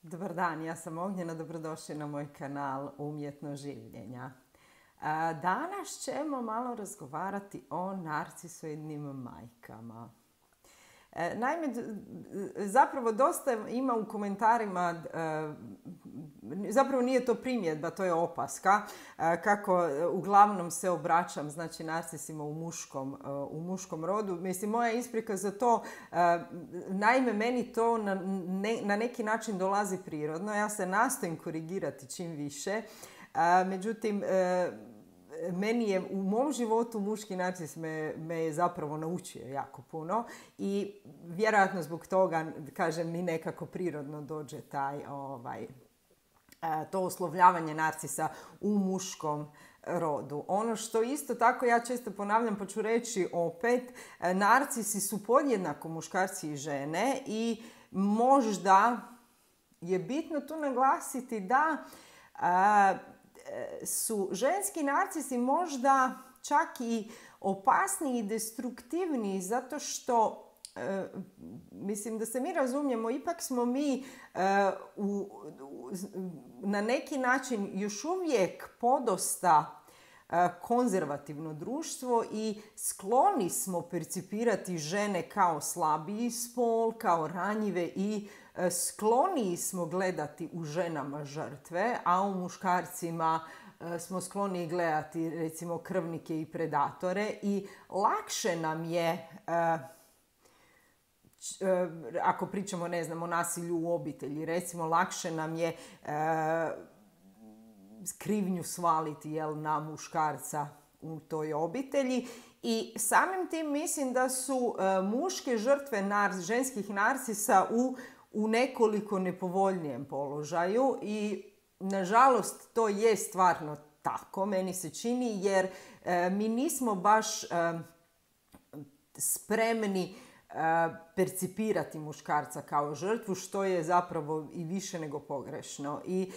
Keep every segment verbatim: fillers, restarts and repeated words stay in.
Dobar dan, ja sam Ognjena, dobrodošli na moj kanal Umjetno življenja. A, Danas ćemo malo razgovarati o narcisoidnim majkama. E, Naime, d- d- zapravo dosta ima u komentarima, e, zapravo nije to primjedba, to je opaska, e, kako e, uglavnom se obraćam, znači, narcisima u muškom, e, u muškom rodu. Mislim, moja isprika za to, e, naime, meni to na, ne- na neki način dolazi prirodno. Ja se nastojim korigirati čim više, a, međutim, e, meni je u mom životu muški narcis me, me je zapravo naučio jako puno i vjerojatno zbog toga, kažem, mi nekako prirodno dođe taj, ovaj, e, to oslovljavanje narcisa u muškom rodu. Ono što isto tako ja često ponavljam, pa ću reći opet, e, narcisi su podjednako muškarci i žene i možda je bitno tu naglasiti da e, su ženski narcisi možda čak i opasniji i destruktivniji zato što, e, mislim da se mi razumijemo, ipak smo mi e, u, u, na neki način još uvijek podosta e, konzervativno društvo i skloni smo percipirati žene kao slabiji spol, kao ranjive i e, skloniji smo gledati u ženama žrtve, a u muškarcima e, smo skloni gledati recimo krvnike i predatore i lakše nam je, e, č- e, ako pričamo, ne znam, o nasilju u obitelji, recimo lakše nam je e, krivnju svaliti, jel, na muškarca u toj obitelji i samim tim mislim da su e, muške žrtve nar- ženskih narcisa u, u nekoliko nepovoljnijem položaju i nažalost to je stvarno tako, meni se čini, jer e, mi nismo baš e, spremni e, percipirati muškarca kao žrtvu, što je zapravo i više nego pogrešno. I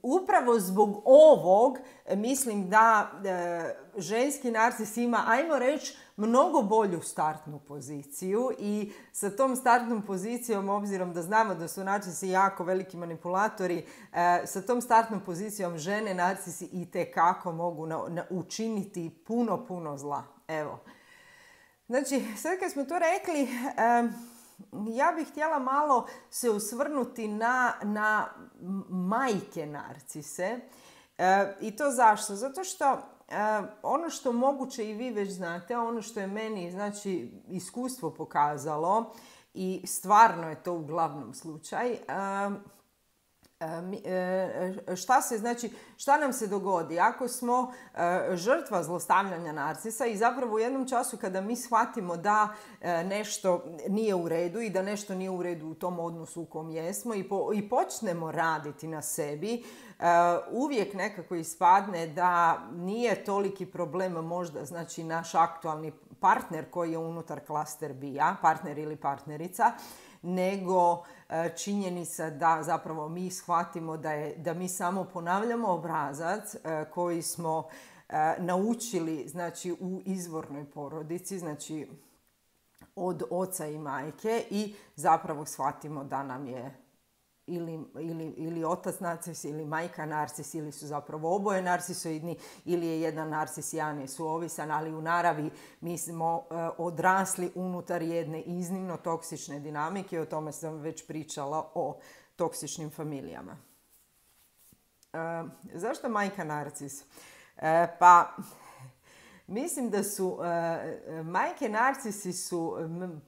upravo zbog ovog e, mislim da e, ženski narcis ima, ajmo reći, mnogo bolju startnu poziciju i sa tom startnom pozicijom, obzirom da znamo da su narcisi jako veliki manipulatori, e, sa tom startnom pozicijom žene narcisi itekako mogu na, na, učiniti puno, puno zla. Evo. Znači, sad kad smo to rekli, em, ja bih htjela malo se osvrnuti na, na majke narcise. E, I to zašto? Zato što e, ono što moguće i vi već znate, ono što je meni, znači, iskustvo pokazalo i stvarno je to uglavnom slučaj, em, šta se, znači, šta nam se dogodi ako smo e, žrtva zlostavljanja narcisa i zapravo u jednom času kada mi shvatimo da e, nešto nije u redu i da nešto nije u redu u tom odnosu u kom jesmo i, po, i počnemo raditi na sebi, e, uvijek nekako ispadne da nije toliki problem možda, znači, naš aktualni partner koji je unutar klaster bija, partner ili partnerica, nego e, činjenica da zapravo mi shvatimo da, je, da mi samo ponavljamo obrazac e, koji smo e, naučili, znači, u izvornoj porodici, znači od oca i majke, i zapravo shvatimo da nam je ili, ili, ili otac narcis ili majka narcis, ili su zapravo oboje narcisoidni, ili je jedan narcis, jedan je suovisan, ali u naravi mi smo e, odrasli unutar jedne iznimno toksične dinamike. O tome sam već pričala, o toksičnim familijama. E, zašto majka narcis? E, pa... Mislim da su, e, majke narcisi su, m,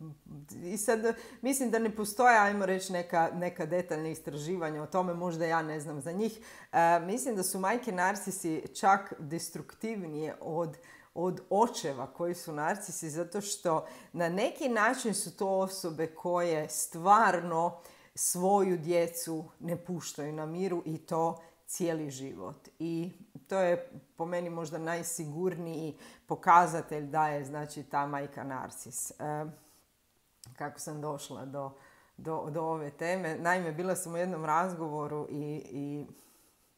i sad mislim da ne postoje, ajmo reći, neka, neka detaljna istraživanja o tome, možda ja ne znam za njih. E, mislim da su majke narcisi čak destruktivnije od, od očeva koji su narcisi, zato što na neki način su to osobe koje stvarno svoju djecu ne puštaju na miru i to cijeli život. I to je po meni možda najsigurniji pokazatelj da je, znači, ta majka narcis. E, kako sam došla do, do, do ove teme? Naime, bila sam u jednom razgovoru i, i,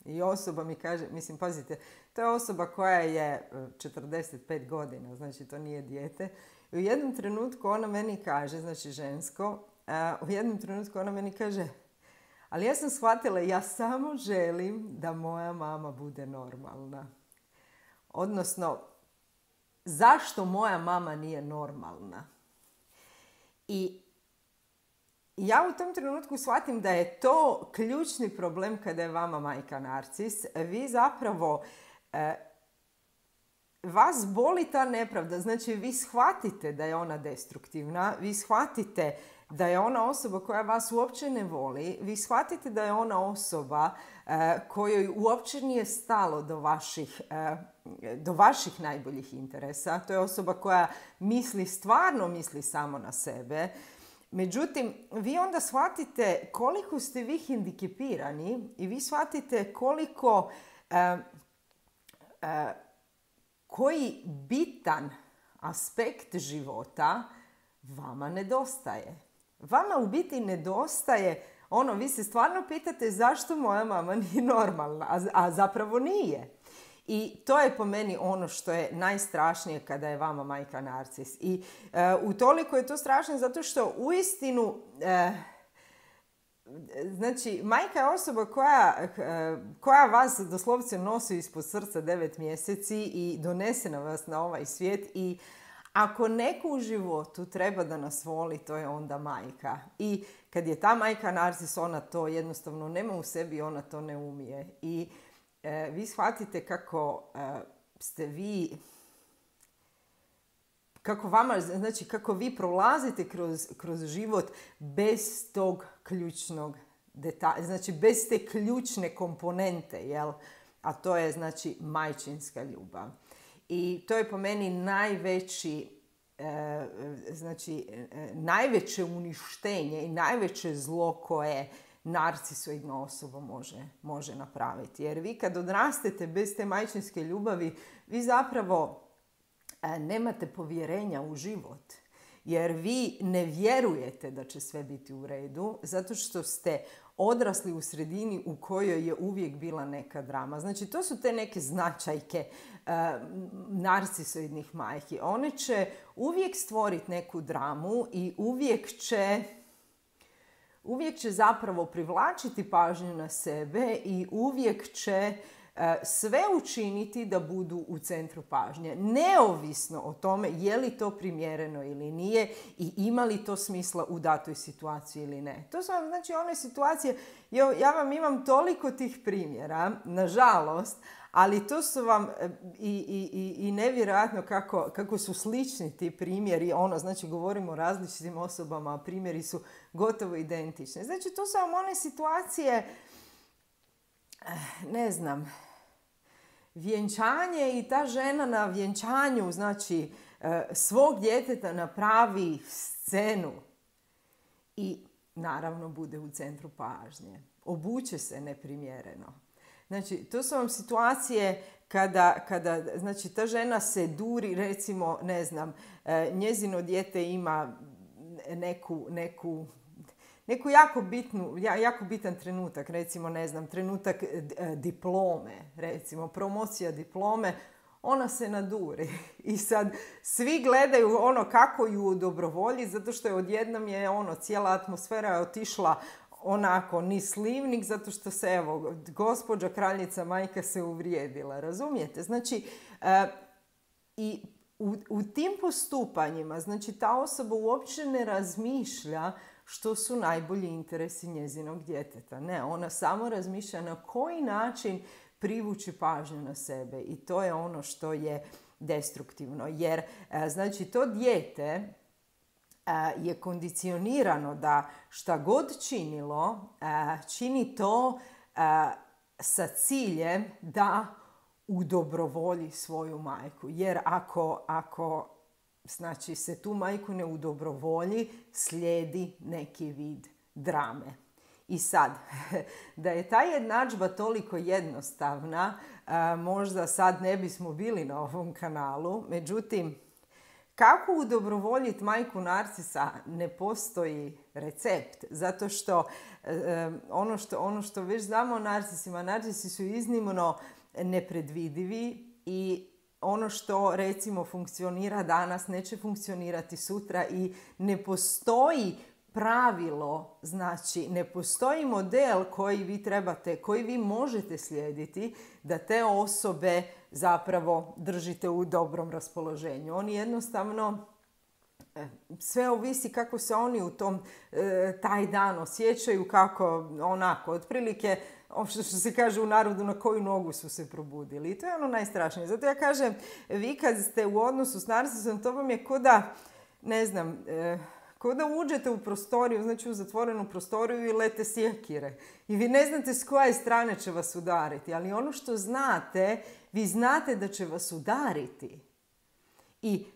i osoba mi kaže, mislim, pazite, to je osoba koja je četrdeset pet godina, znači to nije dijete. I u jednom trenutku ona meni kaže, znači žensko, a, u jednom trenutku ona meni kaže: Ali ja sam shvatila, ja samo želim da moja mama bude normalna. Odnosno, zašto moja mama nije normalna? I ja u tom trenutku shvatim da je to ključni problem kada je vama majka narcis. Vi zapravo, eh, vas boli ta nepravda. Znači, vi shvatite da je ona destruktivna, vi shvatite da je ona osoba koja vas uopće ne voli, vi shvatite da je ona osoba eh, kojoj uopće nije stalo do vaših, eh, do vaših najboljih interesa. To je osoba koja misli, stvarno misli samo na sebe. Međutim, vi onda shvatite koliko ste vi hendikepirani i vi shvatite koliko, eh, eh, koji bitan aspekt života vama nedostaje. Vama u biti nedostaje, ono, vi se stvarno pitate zašto moja mama nije normalna, a, a zapravo nije. I to je po meni ono što je najstrašnije kada je vama majka narcis. I e, utoliko je to strašno zato što uistinu, e, znači, majka je osoba koja, e, koja vas doslovce nosi ispod srca devet mjeseci i donese na vas na ovaj svijet. I ako neko u životu treba da nas voli, to je onda majka. I kad je ta majka narcis, ona to jednostavno nema u sebi, ona to ne umije. I E, vi shvatite kako e, ste vi, kako vama, znači kako vi prolazite kroz, kroz život bez tog ključnog detalja, znači bez te ključne komponente, jel? A to je znači majčinska ljubav. I to je po meni najveći, e, znači e, najveće uništenje i najveće zlo koje narcisoidna osoba može, može napraviti. Jer vi kad odrastete bez te majčinske ljubavi, vi zapravo e, nemate povjerenja u život. Jer vi ne vjerujete da će sve biti u redu, zato što ste odrasli u sredini u kojoj je uvijek bila neka drama. Znači, to su te neke značajke e, narcisoidnih majki. One će uvijek stvoriti neku dramu i uvijek će Uvijek će zapravo privlačiti pažnju na sebe i uvijek će e, sve učiniti da budu u centru pažnje. Neovisno o tome je li to primjereno ili nije i ima li to smisla u datoj situaciji ili ne. To su vam, znači, one situacije, ja, ja vam imam toliko tih primjera, nažalost, ali to su vam i, i, i, i nevjerojatno kako, kako su slični ti primjeri. Ono, znači, govorimo o različitim osobama, a primjeri su gotovo identični. Znači, to su vam one situacije, ne znam, vjenčanje i ta žena na vjenčanju, znači, svog djeteta napravi scenu i naravno bude u centru pažnje. Obuče se neprimjereno. Znači, to su vam situacije kada, kada znači, ta žena se duri, recimo, ne znam, njezino dijete ima neku, neku, neku jako, bitnu, jako bitan trenutak, recimo, ne znam, trenutak diplome, recimo, promocija diplome, ona se naduri. I sad svi gledaju ono kako ju udobrovolji, zato što je odjednom je ono, cijela atmosfera je otišla onako niz slivnik, zato što se, evo, gospođa kraljica majka se uvrijedila, razumijete? Znači, e, i u, u tim postupanjima, znači, ta osoba uopće ne razmišlja što su najbolji interesi njezinog djeteta. Ne, ona samo razmišlja na koji način privući pažnju na sebe i to je ono što je destruktivno. Jer, e, znači, to dijete je kondicionirano da šta god činilo, čini to sa ciljem da udobrovolji svoju majku. Jer ako, ako znači, se tu majku ne udobrovolji, slijedi neki vid drame. I sad, da je ta jednadžba toliko jednostavna, možda sad ne bismo bili na ovom kanalu, međutim, kako udobrovoljiti majku narcisa ne postoji recept, zato što e, ono što, ono što već znamo o narcisima, narcisi su iznimno nepredvidivi i ono što recimo funkcionira danas neće funkcionirati sutra i ne postoji pravilo, znači ne postoji model koji vi trebate, koji vi možete slijediti da te osobe zapravo držite u dobrom raspoloženju. Oni jednostavno, sve ovisi kako se oni u tom taj dan osjećaju, kako onako, otprilike, što se kaže u narodu, na koju nogu su se probudili. I to je ono najstrašnije. Zato ja kažem, vi kad ste u odnosu s narcisom, to vam je ko da, ne znam, ko da uđete u prostoriju, znači u zatvorenu prostoriju i lete sjekire. I vi ne znate s koje strane će vas udariti. Ali ono što znate, vi znate da će vas udariti. I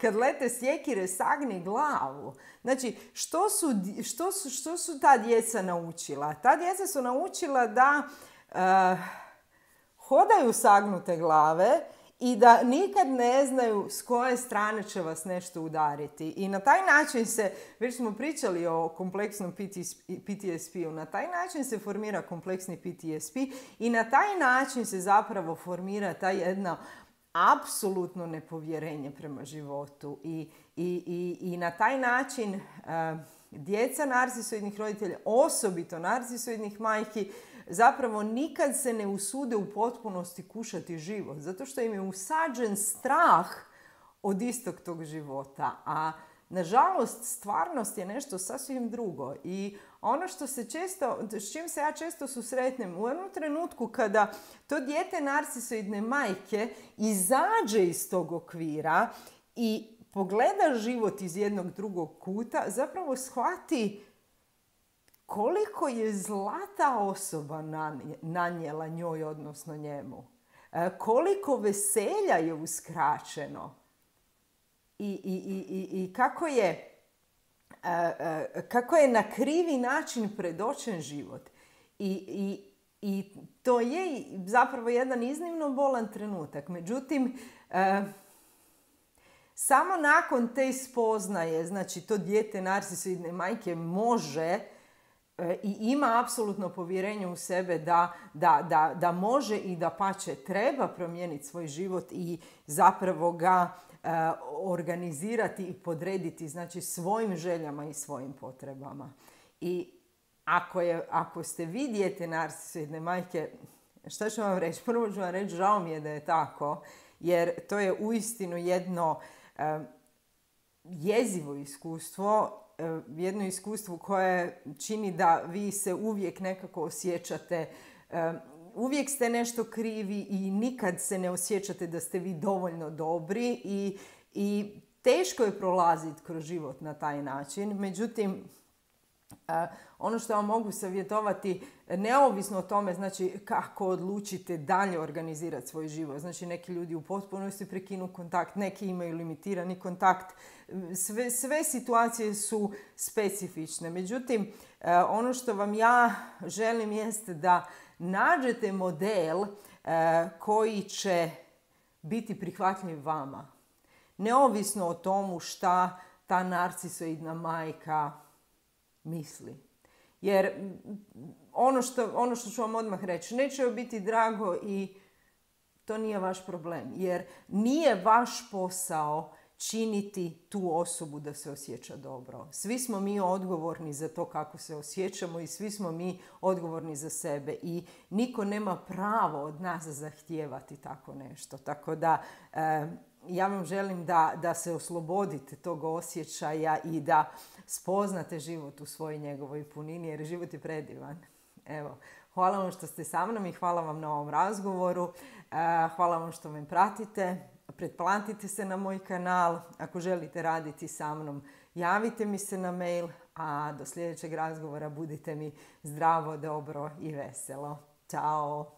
kad lete sjekire, sagni glavu. Znači, što su, što su, što su ta djeca naučila? Ta djeca su naučila da uh, hodaju sagnute glave i da nikad ne znaju s koje strane će vas nešto udariti. I na taj način se, već smo pričali o kompleksnom P T S P-u, na taj način se formira kompleksni P T S P i na taj način se zapravo formira ta jedna apsolutno nepovjerenje prema životu. I, i, i, i na taj način uh, djeca narcisoidnih roditelja, osobito narcisoidnih majki, zapravo nikad se ne usude u potpunosti kušati život, zato što im je usađen strah od istog tog života. A nažalost, stvarnost je nešto sasvim drugo. I ono što se često, s čim se ja često susretnem, u jednom trenutku kada to dijete narcisoidne majke izađe iz tog okvira i pogleda život iz jednog drugog kuta, zapravo shvati koliko je zla ta osoba nanijela njoj, odnosno njemu. Koliko veselja je uskraćeno. I, i, i, i kako je, kako je na krivi način predočen život. I, i, i to je zapravo jedan iznimno bolan trenutak. Međutim, samo nakon te spoznaje, znači to dijete narcisoidne majke može i ima apsolutno povjerenje u sebe da, da, da, da može i da pače treba promijeniti svoj život i zapravo ga uh, organizirati i podrediti, znači svojim željama i svojim potrebama. I ako, je, ako ste vi dijete narcisoidne majke, šta ću vam reći? Prvo ću vam reći, žao mi je da je tako, jer to je uistinu jedno uh, jezivo iskustvo, jedno iskustvo koje čini da vi se uvijek nekako osjećate, uvijek ste nešto krivi i nikad se ne osjećate da ste vi dovoljno dobri i, i teško je prolaziti kroz život na taj način. Međutim, ono što vam mogu savjetovati, neovisno o tome, znači kako odlučite dalje organizirati svoj život. Znači neki ljudi u potpunosti prekinu kontakt, neki imaju limitirani kontakt. Sve, sve situacije su specifične. Međutim, ono što vam ja želim jeste da nađete model koji će biti prihvatljiv vama. Neovisno o tomu šta ta narcisoidna majka misli. Jer ono što, ono što ću vam odmah reći, neće joj biti drago i to nije vaš problem. Jer nije vaš posao činiti tu osobu da se osjeća dobro. Svi smo mi odgovorni za to kako se osjećamo i svi smo mi odgovorni za sebe. I niko nema pravo od nas zahtijevati tako nešto. Tako da eh, ja vam želim da, da se oslobodite tog osjećaja i da spoznate život u svojoj njegovoj punini, jer život je predivan. Evo, hvala vam što ste sa mnom i hvala vam na ovom razgovoru. Hvala vam što me pratite. Pretplatite se na moj kanal. Ako želite raditi sa mnom, javite mi se na mail. A do sljedećeg razgovora budite mi zdravo, dobro i veselo. Ćao!